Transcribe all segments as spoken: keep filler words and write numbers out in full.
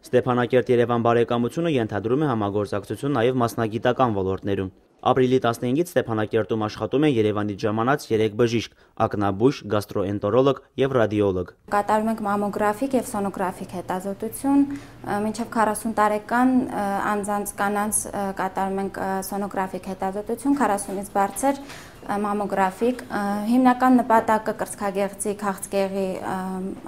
Ստեփանակերտ-Երևան բարեկամությունը ենթադրում է համագործակցություն նաև մասնագիտական ոլորտներում։ Ապրիլի տասնհինգից Ստեփանակերտում աշխատում են Երևանից ժամանած երեք բժիշկ՝ ակնաբույժ, գաստրոէնտերոլոգ եւ ռադիոլոգ։ Կատարում ենք մամոգրաֆիկ եւ սոնոգրաֆիկ հետազոտություն, մինչեւ քառասուն տարեկան անձանց կանանց կատարում ենք սոնոգրաֆիկ հետազոտություն, քառասունից բարձր մամոգրաֆիկ, հիմնական նպատակը կրծքագեղձի քաղցկեղի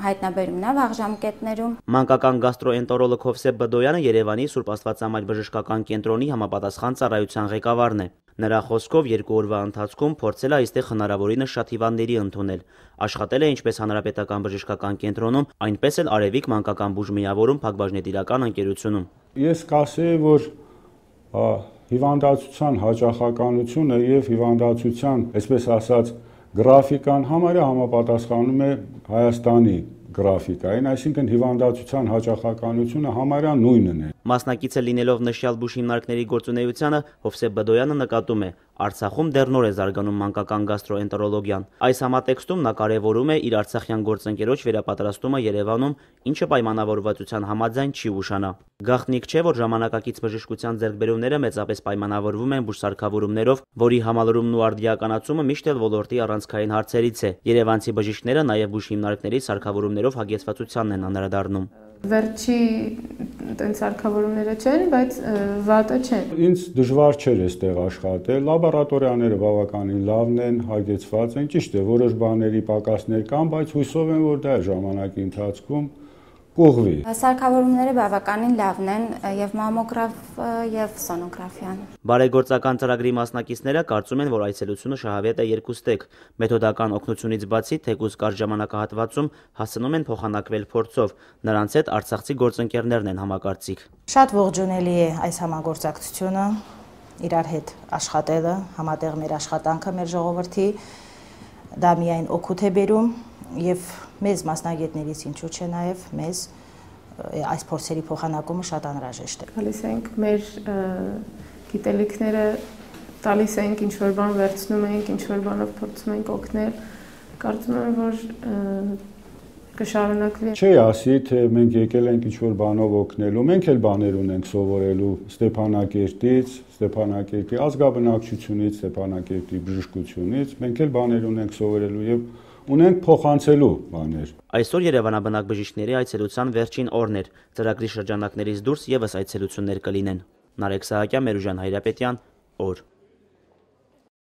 հայտնաբերումն է վաղ ժամկետներում։ Մանկական գաստրոէնտերոլոգ Հովսեփ Բդոյանը Երևանի Սուրբ Աստվածամայր բժշկական կենտրոնի համապատասխան ծառայության ղեկավարն է։ Նրա խոսքով երկու օրվա ընթացքում փորձել է այստեղ հնարավորինս շատ հիվանդների ընդունել։ Աշխատել է ինչպես Հանրապետական բժշկական կենտրոնում, այնպես էլ Արևիկ մանկական բուժմիավորում Փակbaşնետիրական ընկերությունում։ Ես կասեի, որ հիվանդացության հաճախականությունը եւ հիվանդացության, այսպես ասած, գրաֆիկան համարյա համապատասխանում է Հայաստանի գրաֆիկային, այսինքն հիվանդացության հաճախականությունը համարյա նույնն է։ Մասնակիցը լինելով նշյալ բուժհիմնարկների գործունեությանը, Հովսեփ Բդոյանը նկատում է, Արցախում դեռ նոր է զարգանում մանկական գաստրոէնտերոլոգիան։ Այս համատեքստում նա կարևորում է իր արցախյան գործընկերոջ վերապատրաստումը Երևանում, ինչը պայմանավորվածության համաձայն չի ուշանա։ Գաղտնիք չէ, որ ժամանակակից բժշկության ձեռքբերումները մեծապես պայմանավորվում են բուժսարքավորումներով, որի համալրումն ու արդիականացումը միշտ էլ ոլորտի առանցքային հարցերից է։ Երևանցի բժիշկները նաև բուժհիմնարկների սարքավորումներով հագեցվածությանն են անդրադառնում։ Վերջի տենց սարքավորումները չեն, բայց վատը չեն։ Ինձ դժվար չէր այստեղ աշխատել, լաբորատորիաները բավականին լավն են, հագեցված են, ճիշտ է, որոշ բաների պակասներ կան, բայց հույսով եմ, որ դա ժամանակի ընթացքում կուղղվի։ Սարքավորումները բավականին լավն են եւ մամոգրաֆ եւ սոնոգրաֆիան։ Բարեգործական ծրագրի մասնակիցները կարծում են, որ այցելությունը շահավետ է երկուստեք։ Մեթոդական օգնությունից բացի թեկուզ կարճ ժամանակահատվածում հասցնում են փոխանակվել փորձով։ Նրանց հետ արցախցի գործընկերներն են համակարծիք։ Շատ ողջունելի է այս համագործակցությունը, իրար հետ աշխատելը, համատեղ մեր աշխատանքը մեր ժողովրդի, դա միայն օգուտ է բերում եւ մեզ մասնագետներից ինչու՞ չէ նաեւ մեզ այս փորձերի փոխանակումը շատ անհրաժեշտ է։ Գալիս ենք մեր գիտելիքները տալիս ենք, ինչ որ բան վերցնում ենք, ինչ որ բանով փորձում ենք օգնել, կարծում եմ, որ կշարունակվի։ Չի ասի, թե մենք եկել ենք ինչ որ բանով օգնելու, մենք էլ բաներ ունենք սովորելու Ստեփանակերտից, Ստեփանակերտի ազգաբնակչությունից, Ստեփանակերտի բժշկությունից, մենք էլ բաներ ունենք սովորելու եւ ունենք փոխանցելու բաներ։ Այսօր Երևանաբնակ բժիշկների այցելության վերջին օրն էր։ Ծրագրի շրջանակներից դուրս եւս այցելություններ կլինեն։ Նարեկ Սահակյան, Մերուժան Հայրապետյան, օր։